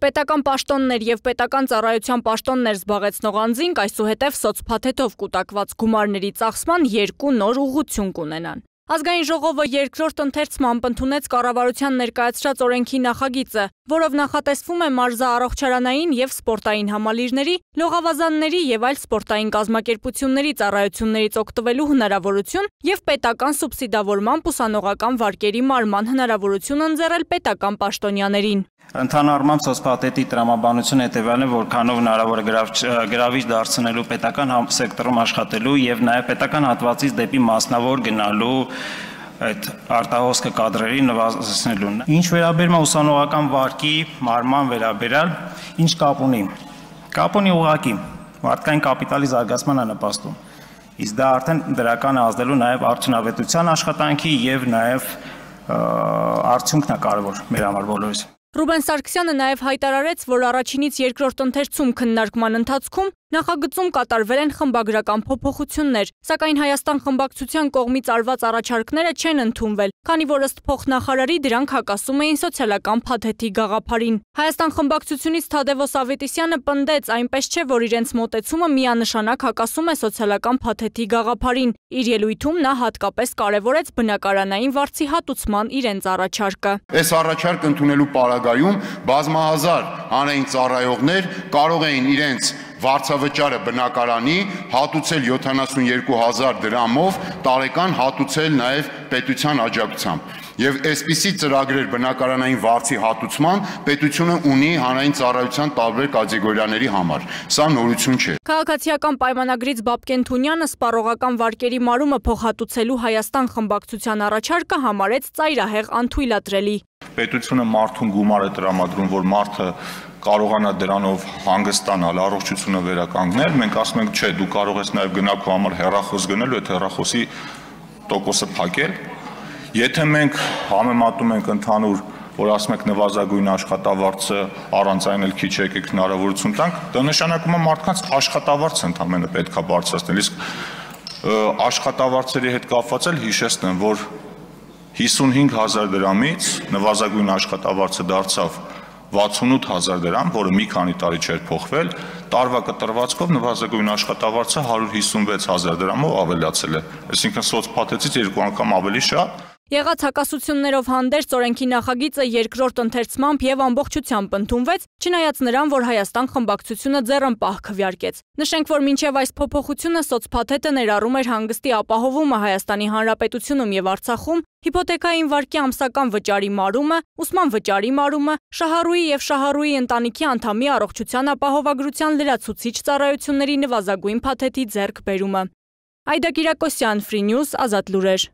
Պետական պաշտոններ և պետական ծառայության պաշտոններ զբաղեցնող անձինք այսուհետև սոցփաթեթով կուտակված գումարների ծախսման երկու նոր ուղղություն կունենան։ Ազգային ժողովը երկրորդ ընթերցմամբ ընդունեց կառավարության ներկայացրած օրենքի նախագիծը, որով նախատեսվում է մարզաառողջարանային և սպորտային համալիրների, լողավազանների և այլ սպորտային կազմակերպությունների ծառայություններից օգտվելու հնարավորություն և պետական սուբսիդավորմամբ ուսանողական վարկերի մարման հնարավորություն ընձեռել պետական պաշտոնյաներին։ Ընդհանուր առմամբ սոցփաթեթի տրամաբանությունը հետևյալն է, որքանով հնարավոր է գրավիչ դարձնելու պետական սեկտորում աշխատելու եւ նաեւ պետական հատվածից դեպի մասնավոր գնալու այդ արտահոսքը կադրերի նվազեցնելուն։ Ինչ վերաբերում է ուսանողական վարկի մարման վերաբերյալ, ինչ կապ ունի։ Կապ ունի ուղղակի մարդկային կապիտալի զարգացման նպաստում։ Իսկ դա արդեն դրական է ազդելու նաեւ արդյունավետության աշխատանքի եւ նաեւ արդյունքն է կարեւոր մեր համար բոլորիս։ Ռուբեն Սարգսյանը նաև հայտարարեց, որ առաջինից երկրորդ ընթերցում քննարկման ընթացքում նախագծում կատարվել են խմբագրական փոփոխություններ, սակայն Հայաստան խմբակցության կողմից արված առաջարկները չեն ընդունվել, քանի որ ըստ փոխնախարարի դրանք հակասում էին սոցիալական փաթեթի գաղափարին։ Հայաստան խմբակցությունից Թադևոս Ավետիսյանը պնդեց, այնպես չէ, որ իրենց մոտեցումը միանշանակ հակասում է սոցիալական փաթեթի գաղափարին։ Իր ելույթում նա հատկապես կարևորեց բնակարանային վարձի հատուցման իրենց առաջարկը։ Այս առաջարկ ընդունելու պարագայում բազմահազար հանրային ծառայողներ կարող էին իրենց վարձավճարը բնակարանի հատուցել 72,000 դրամով, տարեկան հատուցել նաև պետության աջակցությամբ։ Եվ այսպիսի ծրագրեր բնակարանային վարձի հատուցման պետությունը ունի հանրային ծառայության տարբեր կատեգորիաների համար։ Սա նորություն չէ։ Քաղաքացիական պայմանագրից Բաբկեն Թունյանը սպառողական վարկերի մարումը փոխհատուցելու Հայաստան խմբակցության առաջարկը համարեց ծայրահեղ անթույլատրելի։ Պետությունը մարդուն գումար է տրամադրում, որ մարդը կարողանա դրանով հանգստանալ, առողջությունը վերականգնել, մենք ասում ենք, չէ, դու կարող ես նաև գնալ քո համար հեռախոս գնել ու այդ հեռախոսի տոկոսը փակել։ Եթե մենք համեմատում ենք ընդհանուր, որ ասում ենք նվազագույն աշխատավարձը առանց այն էլ քիչ եկեք հնարավորություն տանք, դա նշանակում է մարդկանց աշխատավարձը ընդհանրապես պետք է բարձրացնել, իսկ աշխատավարձերի հետ կապված էլ հիշեցնեմ, որ 55,000 դրամից նվազագույն աշխատավարձը դարձավ 68,000 դրամ, որը մի քանի տարի չէր փոխվել, տարվա կտրվածքով նվազագույն աշխատավարձը 156,000 դրամով ավելացել է, այսինքն սոցփաթեթից 2 անգամ ավելի շատ։ Եղած հակասություններով հանդերձ օրենքի նախագիծը երկրորդ ընթերցմամբ եւ ամբողջությամբ ընդունվեց, չնայած նրան, որ Հայաստան խմբակցությունը ձեռնպահ քվեարկեց։ Նշենք, որ մինչև այս փոփոխությունը սոցփաթեթը ներառում էր հանգստի ապահովումը Հայաստանի Հանրապետությունում եւ Արցախում, հիփոթեքային վարկի ամսական վճարի մարումը, ուսման վճարի մարումը, շահառուի եւ շահառուի ընտանիքի անդամի առողջության ապահովագրության լրացուցիչ ծառայությունների նվազագույն փաթեթի ձեռքբերումը։ Այդա Կիրակոսյան, Free News, Ազատ լուրեր։